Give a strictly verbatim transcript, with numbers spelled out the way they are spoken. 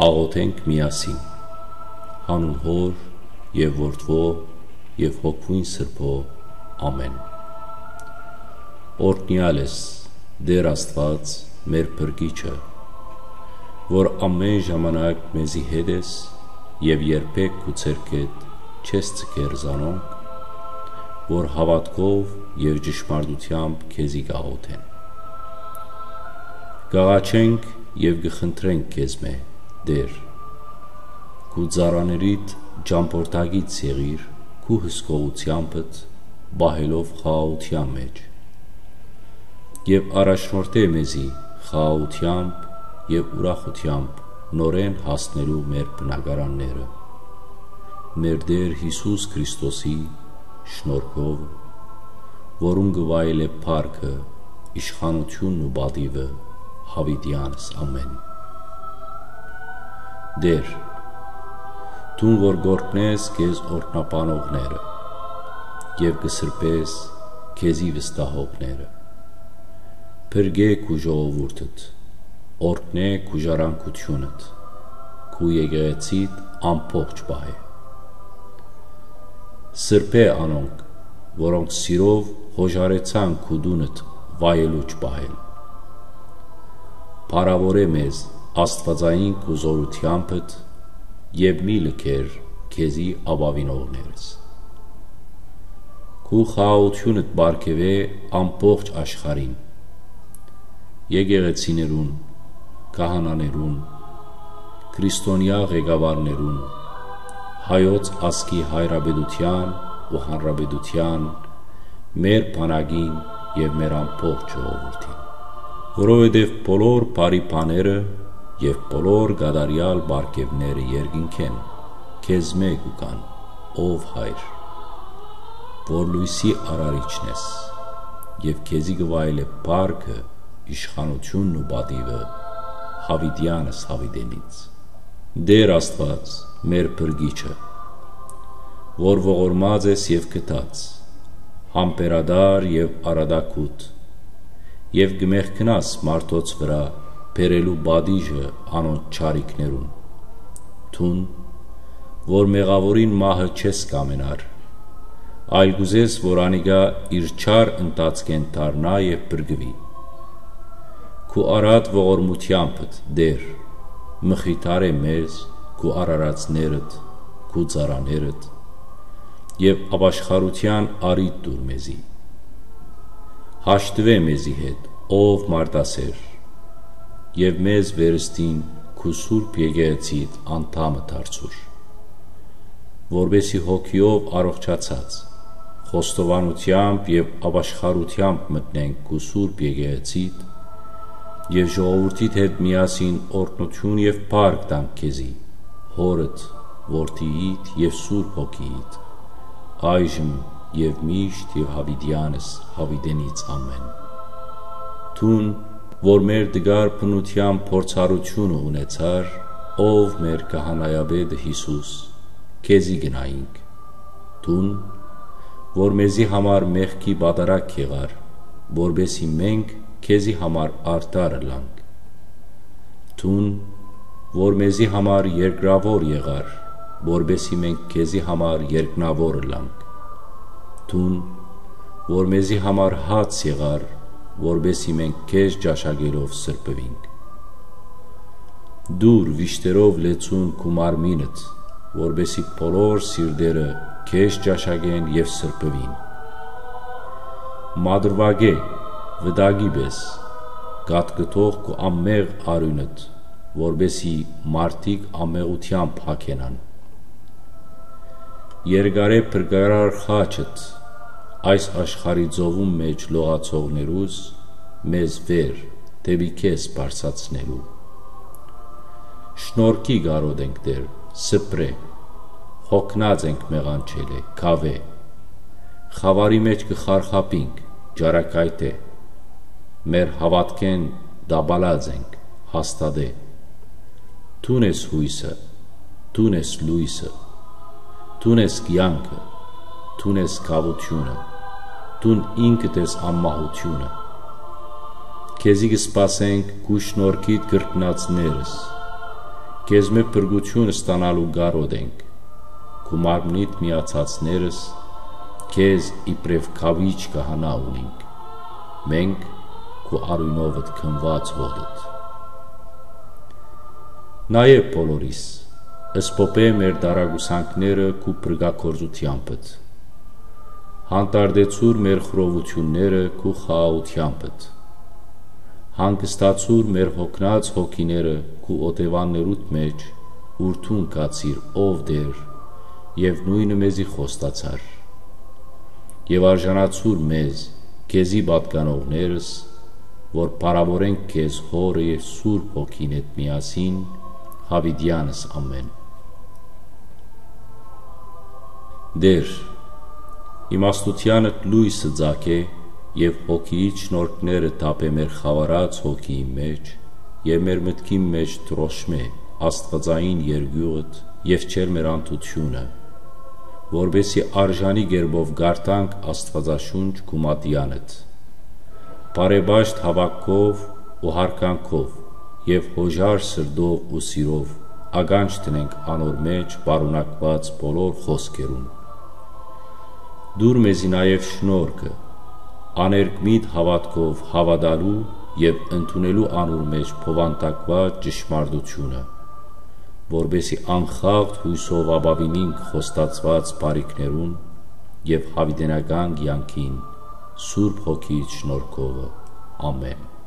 Աղօթենք միասին։ Յանուն Հօր եւ Որդւոյ եւ Հոգւոյն Սրբոյ։ Ամէն։ Օրհնեալ ես, Տէր Աստուած, մեր Փրկիչը, որ ամէն ժամանակ մեզի հետ ես եւ երբեք քու ձեռքէդ չես ձգեր զանոնք, որ հաւատքով եւ ճշմարտութեամբ քեզի կ'աղօթեն։ Կ'աղաչենք եւ կը խնդրենք քեզմէ, Տէր, քու ծառաներիդ ճամբորդակից եղիր քու հսկողութեամբդ պահելով խաղաղութեան մէջ եւ առաջնորդէ մեզի խաղաղութեամբ եւ ուրախութեամբ նորէն հասնելու մեր բնակարանները, մեր Տէր Յիսուս Քրիստոսի շնորհքով, որուն կը վայելէ փառքը, իշխանութիւնն ու պատիւը յաւիտեանս ամէն։ Տէր, դուն որ կ'օրհնես քեզ օրհնաբանողները եւ կը սրբես քեզի վստահողները, փրկէ քու ժողովուրդդ, օրհնէ քու ժառանգութիւնդ, քու եկեղեցիդ ամբողջ պահէ։ Սրբէ անոնք, որոնք սիրով յօժարեցան քու տունդ վայելուչ պահել։ Փառաւորէ մեզ աստուածային քու զօրութեամբդ եւ մի լքեր քեզի ապաւինողներս։ Քու խաղաղութիւնդ պարգեւէ ամբողջ աշխարհին, եկեղեցիներուն, քահանաներուն, քրիստոնեայ ղեկավարներուն, հայոց ազգի հայրապետութեան ու հանրապետութեան, մեր բանակին եւ մեր ամբողջ ժողովուրդին։ Որովհետեւ բոլոր բարի բաները եւ բոլոր կատարեալ պարգեւները երկնքէն քեզմէ կու գան, ով Հայր, որ լոյսի արարիչն ես, եւ քեզի կը վայելէ փառքը, իշխանութիւնն ու պատիւը յաւիտեանս յաւիտենից։ Տէր Աստուած, մեր Փրկիչը, որ ողորմած ես եւ գթած, համբերատար եւ արատագութ, եւ կը մեղքնաս մարդոց վրայ բերելու պատիժը անոնց չարիքներուն։ Դուն, որ մեղաւորին մահը չես կ'ամենար, այլ կ'ուզես, որ անիկա իր չար ընթացքէն դառնայ եւ փրկուի։ Քու արատ ողորմութեամբդ, Տէր, մխիթարէ մեզ, քու արարածներդ, քու ծառաներդ, եւ ապաշխարութեան առիթ տուր մեզի։ Հաշտուէ մեզի հետ, ով մարդասէր, եւ մեզ վերստին քու սուրբ եկեղեցիդ անդամը դարձուր, որպէսզի հոգիով առողջացած, խոստովանութեամբ եւ ապաշխարութեամբ մտնենք քու սուրբ եկեղեցիդ եւ ժողովուրդիդ հետ միասին օրհնութիւն եւ փառք տանք քեզի, Հօրդ, Որդիիդ եւ Սուրբ Հոգիիդ, այժմ եւ միշտ եւ յաւիտեանս յաւիտենից ամէն։ Դուն, որ մեր տկար բնութեան փորձառութիւնը ունեցար, ով մեր քահանայապետը Յիսուս, քեզի գնայինք։ Դուն, որ մեզի համար մեղքի պատարագ եղար, որպէսզի մենք քեզի համար արդար ըլլանք։ Դուն, որ մեզի համար երկրաւոր եղար, որպէսզի մենք քեզի համար երկնաւոր ըլլանք։ Դուն, որ մեզի համար հաց եղար, որպէսզի մենք քեզ ճաշակելով սրբուինք։ Տուր վիշտերով լեցուն քու մարմինդ, որպէսզի բոլոր սիրտերը քեզ ճաշակեն եւ սրբուին։ Մատռուակէ, վտակի պէս, կատկտող քու անմեղ արիւնդ, որպէսզի մարդիկ անմեղութեամբ յագենան։ Երկարէ փրկարար խաչդ, այս աշխարհի ծովուն մէջ լողացողներուս մեզ վեր, դէպի քեզ բարձրացնելու։ Շնորհքի կարօտ ենք, Տէր, սփռէ, յոգնած ենք մեղանչելէ, քաւէ, խաւարի մէջ կը խարխափինք, ճառագայթէ, մեր հաւատքէն տապալած ենք, հաստատէ։ Դուն ես յոյսը, դուն ես լոյսը, դուն ես կեանքը, դուն ես գաւութիւնը, դուն ինքդ ես անմահութիւնը։ Քեզի կը սպասենք քու շնորհքիդ կրկնածներս, Քեզմէ փրկութիւն ստանալու կարօտ ենք։ Քու մարմնիդ միացածներս քեզ իբրեւ քաւիճ քահանայ ունինք, մենք քու արիւնովդ քնուած հօտդ։ Նաեւ բոլորիս, սփոփէ մեր տարակուսանքները քու փրկագործութեամբդ։ Հանդարտեցուր մեր խռովութիւնները քու խաղաղութեամբդ։ Հանգստացուր մեր յոգնած հոգիները քու օտեւաններուդ մէջ, ուր դուն գացիր, ով Տէր, եւ նոյնը մեզի խոստացար։ Եւ արժանացուր մեզ, քեզի պատկանողներս, որ փառաւորենք քեզ Հօրը եւ Սուրբ Հոգին հետ միասին, յաւիտեանս ամէն։ Տէր, իմաստութեանդ լոյսը ծագէ եւ հոգիիդ շնորհքները թափէ մեր խաւարած հոգիին մէջ եւ մեր մտքին մէջ դրոշմէ աստուածային երկիւղդ եւ չեր մեր անդութիւնը, որպէսզի արժանի կերպով կարդանք Աստուածաշունչ քու մատեանդ։ Բարեպաշտ հաւատքով ու յարգանքով եւ յօժար սրտով ու սիրով ականջ դնենք անոր մէջ պարունակուած բոլոր խօսքերուն։ Տուր մեզի նաեւ շնորհքը, աներկմիտ հաւատքով հաւատալու եւ ընդունելու անոր մէջ բովանդակուած ճշմարտութիւնը, որպէսզի անխախտ յոյսով ապաւինինք խոստացուած բարիքներուն եւ յաւիտենական կեանքին Սուրբ Հոգիիդ շնորհքովը։ Ամէն։